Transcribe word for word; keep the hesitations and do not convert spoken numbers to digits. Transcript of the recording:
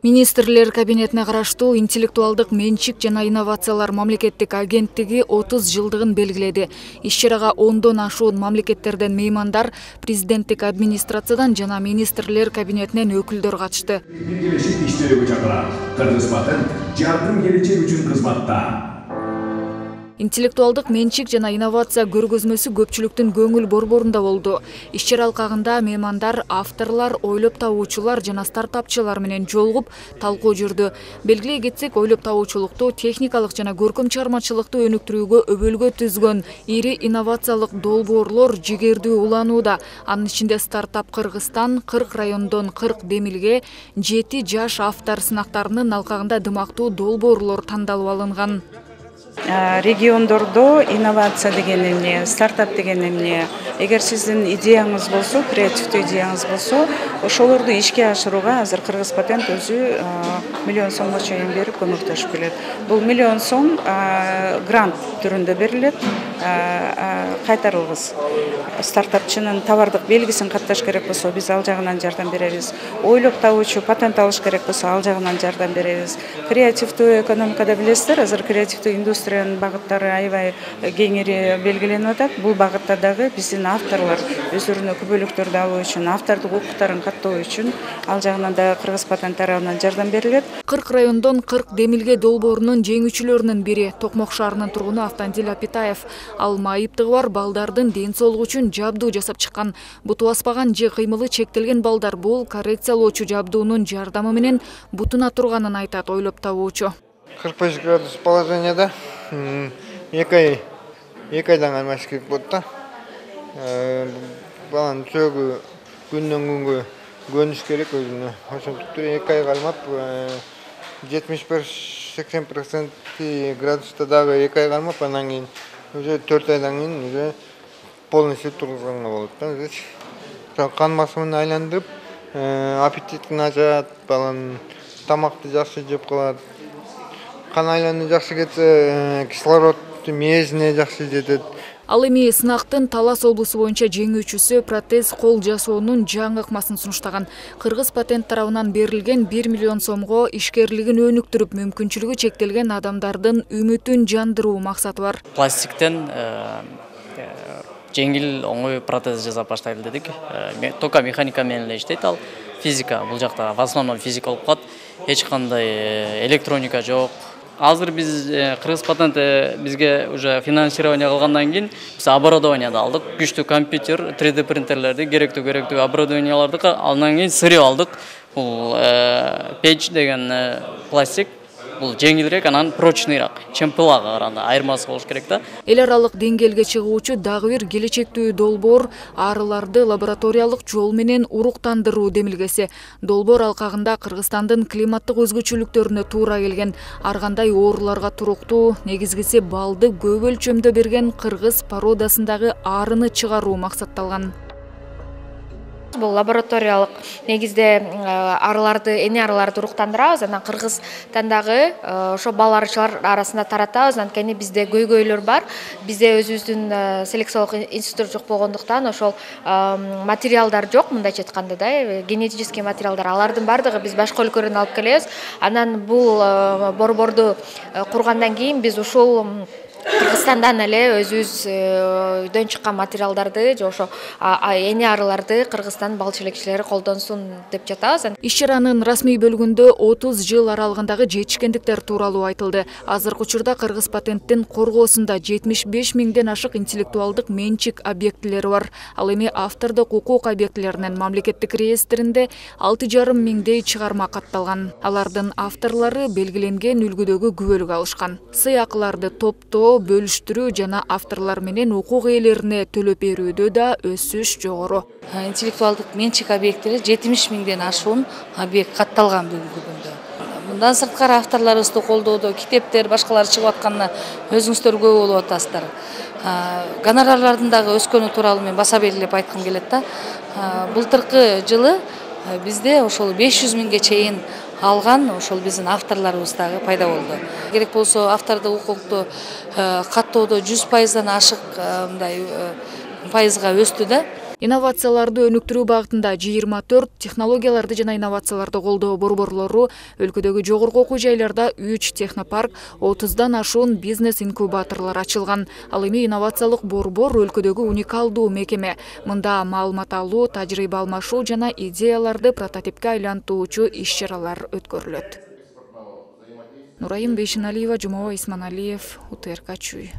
Министрлер кабинетине караштуу интеллектуалдык менчик жана инновациялар мамлекеттик агенттиги отуз жылдыгын белгиледи. Иш-чарага ондон ашуун мамлекеттерден меймандар, президенттик администрациядан жана министрлер кабинетинен өкүлдөр катышты. Биргелешип иштөөгө чакырат. Кыргыз Патент жардым келечек үчүн кызматта. Интеллектуалдык менчик жана инновация көргөзмөсү көпчүлүктүн көңүл борборунда болду. Иш-чара алкагында меймандар, авторлор, ойлоп табуучулар жана стартапчылар менен жолугуп талкуу жүрдү. Белгилей кетсек, ойлоп табуучулукту, техникалык жана көркөм чыгармачылыкты өнүктүрүүгө өбөлгө түзгөн ири инновациялык долбоорлор жигердүү уланууда. Анын ичинде стартап Кыргызстан, кырк райондон кырк демилге, жети жаш автор сынактарынын алкагында дымактуу долбоорлор тандалып алынган. Региондордо инновация деген эмне, стартап деген эмне, эгер сиздин идеяңыз болсо, креативдүү идеяңыз болсо, ошолорду ишке ашырууга азыр Кыргыз Патент өзү миллион сомго чейин берип көмөктөшүп келет. Бул миллион сом грант түрүндө берилет, кайтарылгыс. Стартапчынын товардык белгисин катташ керек болсо, биз ал жагынан жардам беребиз. Ойлоп табуучу патент алыш керек болсо, ал жагынан жардам беребиз. Креативдүү экономикада билесиздер, азыр креативдүү индустриянын багыттары аябай кеңири белгиленип атат. Бул багытта дагы биздин авторлор өздөрүнө күбөлүктөрдү алуу үчүн, автордук укуктарын каттоо үчүн ал жагынан да Кыргыз Патент тарабынан жардам берилет. кырк райондон кырк демилге долбоорунун жеңүүчүлөрүнүн бири Токмок шаарынын тургуну Автандил Апитаев. Ал майыптыгы бар балдардын ден соолугу үчүн жабдуу жасап чыккан. Буту баспаган же кыймылы чектелген балдар бул коррекциялоочу жабдуунун жардамы менен бутуна турганын айтат ойлоп табуучу. кырк беш градус положенияда эки ай эки айдан алмаш керек болот да. Баланын сөөгү күндөн күнгө көнүш керек өзүнө. Ошондуктан эки айга алмап жетимиш беш сексен процент градуста дагы эки айга алмап, анан кийин уже төрт айдан кийин уже полностью тургузганга болот да. Кан басымын айландырып, аппетитин ачат, баланын тамакты жакшы жеп калат. Кан айлануу жакшы кетсе, кислород мээсине жакшы жетет. Ал эми сынактын Талас облусу боюнча жеңүүчүсү протез кол жасоонун жаңы ыкмасын сунуштаган. Кыргыз Патент тарабынан берилген бир миллион сомго ишкерлигин өнүктүрүп, мүмкүнчүлүгү чектелген адамдардын үмүтүн жандыруу максаты бар. Пластиктен жеңил оңой протез жасап баштайлы дедик. Тока механика менен эле иштейт ал. Физика бул жакта в основном физика болуп калат. Эч кандай электроника жок. Азыр биз Кыргыз Патент бизге уже финансирование кылгандан кийин биз оборудованияды алдык. Күчтүү компьютер, три дэ принтерлерди, керектүү керектүү оборудованияларды андан кийин сырып алдык. Бул печ деген пластик. Бул жеңилирээк, анан прочныйраак, чемпылага караганда айырмасы болуш керек да. Эл аралык деңгээлге чыгуучу дагы бир келечектүү долбоор арыларды лабораториялык жол менен уруктандыруу демилгеси. Долбоор алкагында Кыргызстандын климаттык өзгөчөлүктөрүнө туура келген, ар кандай ооруларга туруктуу, негизгиси балды көп өлчөмдө берген кыргыз породасындагы арыны чыгаруу максатталган. Бул лабораториялык негизде арыларды, эне арыларды уруктандырабыз. Анан Кыргызстандагы ошо баларчылар арасында таратабыз. Анткени бизде көйгөйлөр бар. Бизде өзүбүздүн селекциялык институт жок болгондуктан ошол материалдар жок, мындайча айтканда да, генетический материалдар. Алардын бардыгы биз башка өлкөлөрдөн алып келебиз. Анан бул борборду кургандан кийин биз ушул Кыргызстандан эле өзүбүздөн чыккан материалдарды же ошо эне арыларды Кыргызстан бал челекчилери колдонсун деп жатабыз. Иш-чаранын расмий бөлүгүндө отуз жыл аралыгындагы жетишкендиктер тууралуу айтылды. Азыркы учурда Кыргыз Патенттин коргоосунда жетимиш беш миңден ашык интеллектуалдык менчик объектилери бар. Ал эми автордук укук объектилеринин мамлекеттик реестринде алты жарым миңдей чыгарма катталган. Алардын авторлору белгиленген үлгүдөгү күбөлүк алышкан. Сыйакыларды топтоо, бөлүштүрүү жана авторлор менен укук ээлерине төлөп берүүдө да өсүш жогору. Интеллектуалдык менчик объектилери жетимиш миңден ашуун объект катталган бүгүнкү күндө. Мындан сырткары авторлорубузду колдоодо китептер, башкалар чыгып атканына өзүңүздөр күбө болуп атасыздар. Гонорарлардын дагы өскөнү тууралуу мен баса белгилеп айткым келет да. Былтыркы жылы бизде ошол беш жүз миңге чейин алган ошол биздин авторлорубуз дагы пайда болду. Керек болсо автордук укукту каттоодо жүз пайыздан ашык мындай пайызга өстү да. Инновацияларды өнүктүрүү багытында жыйырма төрт технологияларды жана инновацияларды колдоо борборлору, өлкөдөгү жогорку окуу жайларда үч технопарк, отуздан ашуун бизнес инкубаторлор ачылган. Ал эми инновациялык борбор өлкөдөгү уникалдуу мекеме. Мында маалымат алуу, тажрыйба алмашуу жана идеяларды прототипке айлантуучу иш-чаралар өткөрүлөт. Нурайым Бейшеналиева, Жумабай Исманалиев, УТРК Чүй.